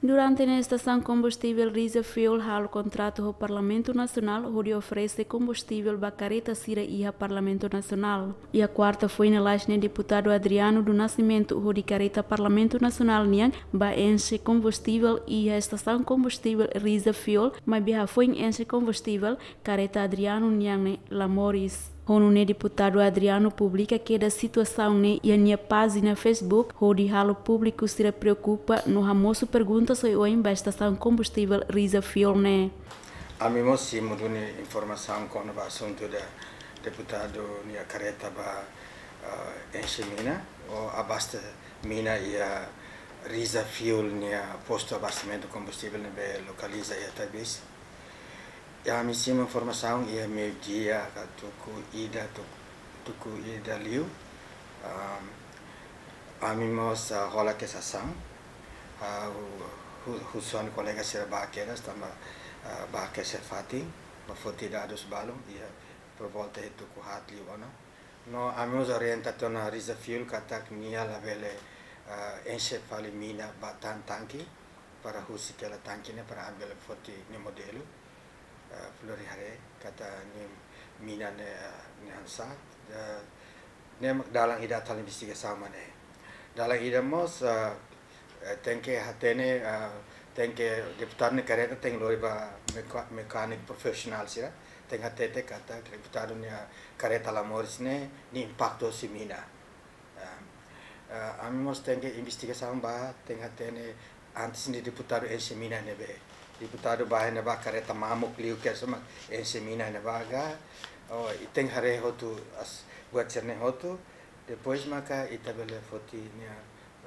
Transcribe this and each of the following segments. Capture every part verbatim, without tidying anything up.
Durante ne'e estasaun kombustivel Risa Fuel halo kontratu ho Parlamentu Nasionál hodi oferese kombustivel ba kareta sira iha Parlamentu Nasionál. Iha kuarta foin lalais ne'e deputadu Adriano do Nascimento hodi kareta Parlamentu Nasionál nian ba enxe kombustivel iha estasaun kombustivel Risa Fuel, maibé hafoin enxe kombustivel, kareta Adriano nian ne'e la moris. Ho nune'e deputadu Adriano publika kedas situasaun ne'e iha nia pájina Facebook hodi halo públiku sira preokupa no hamosu pergunta oioin ba estasaun kombustivel Risa Fuel ne'e. Ami mós simu duni informasaun kona-ba asuntu ida deputadu nia kareta ba, ah, enxe mina ou abaste mina iha Risa Fuel nia postu abastesimentu kombustivel ne'ebé lokaliza iha Taibesi. Ya, ami simu informasaun iha meiudia ka tuku ida, tuk-, tuku ida liu. Am, ami mós, ah, hola kedas asaun. Ah, hu-, hu-, husu ha'u-nia kolega sira ba kedas tanba, ah, ba kedas fatin, ba foti dadus balun, iha por volta iha tuku haat liu ona. No, ami mós orienta tiha ona Risa Fuel katak nia labele, ah, enxe fali mina ba tan tanke, para husik hela tanke ne'e para ami bele foti nia modelu, ah, flori haree katak nia mina ne'e, ah, nia hanesan, ah, ne'e mak dalan ida atu halo investigasaun mak ne'e. Dalan ida mós, ah, eh, tenke hatene, ah, tenke deputadu nia kareta tenke lori ba meka-, mekániku profisionál sira, tenke hatete katak deputadu nia kareta la moris ne'e, nia impaktu husi mina. Ah, ah, ami mós tenke investigasaun ba, tenke hatene antes ne'e deputadu enxe mina ne'ebé. Deputadu ba iha ne'ebá kareta mamuk liu kedas mak enxe mina iha ne'ebá ka. Oh, ita tenke haree hotu as buat sira-ne'e hotu. Depois maka ita bele foti nia,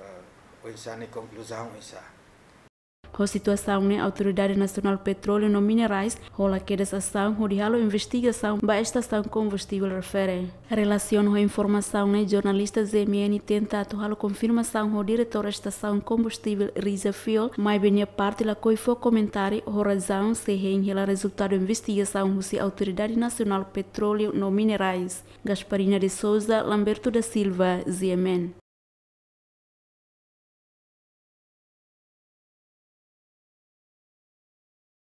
ah, oinsá nia konkluzaun oinsá. Ho situasaun ne'e Autoridade Nasionál Petróleu no Minerais hola kedas asaun hodi halo investigasaun ba estasaun kombustivel refere. Relasiona ho informasaun ne'e jornalista Z M N tenta atu halo konfirmasaun ho diretór estasaun kombustivel Risa Fuel, maibé nia parte lakohi fó komentáriu ho razaun sei hein hela rezultadu investigasaun husi Autoridade Nasionál Petróleu no Minerais. Gasparina de Souza, Lamberto da Silva, Z M N.